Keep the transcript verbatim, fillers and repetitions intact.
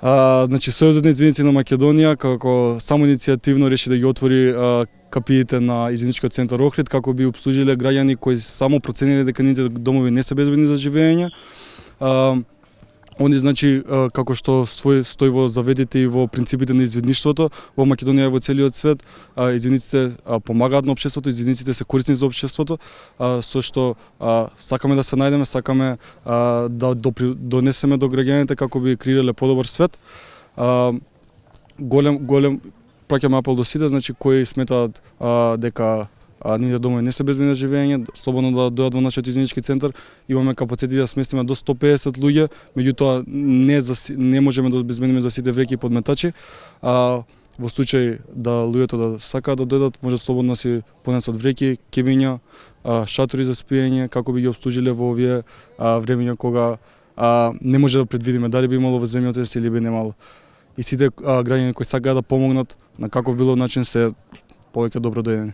А, значи, Сојузот на извиници на Македонија како само иницијативно реши да ги отвори а, капиите на извиничкиот центар Охрид како би обслужиле граѓани кои само процениле дека нивните домови не се безбедни за живење. А, Они, значи, како што стои во заведите и во принципите на извидништвото, во Македонија и во целиот свет, извидниците помагаат на општеството, извидниците се корисни за општеството, со што сакаме да се најдеме, сакаме да донесеме до граѓаните како би креирале подобар свет. Голем, голем, праќаме апел до сите, значи, кои сметаат дека а нивните домови не се безбедни за живење, слободно да дојдат во нашиот извинички центар. Имаме капацитет да сместиме до сто педесет луѓе, меѓутоа не за, не можеме да обезбедиме за сите вреки и подметачи. А во случај да луѓето да сакаат да дојдат, може слободно си понесат вреки, кебиња, шатори за спиење, како би ги обслужиле во овие времења кога а, не може да предвидиме дали би имало во земјотрес или би немало. И сите а, граѓани кои сакаат да помогнат на каков било начин се повеќе добро дојдени.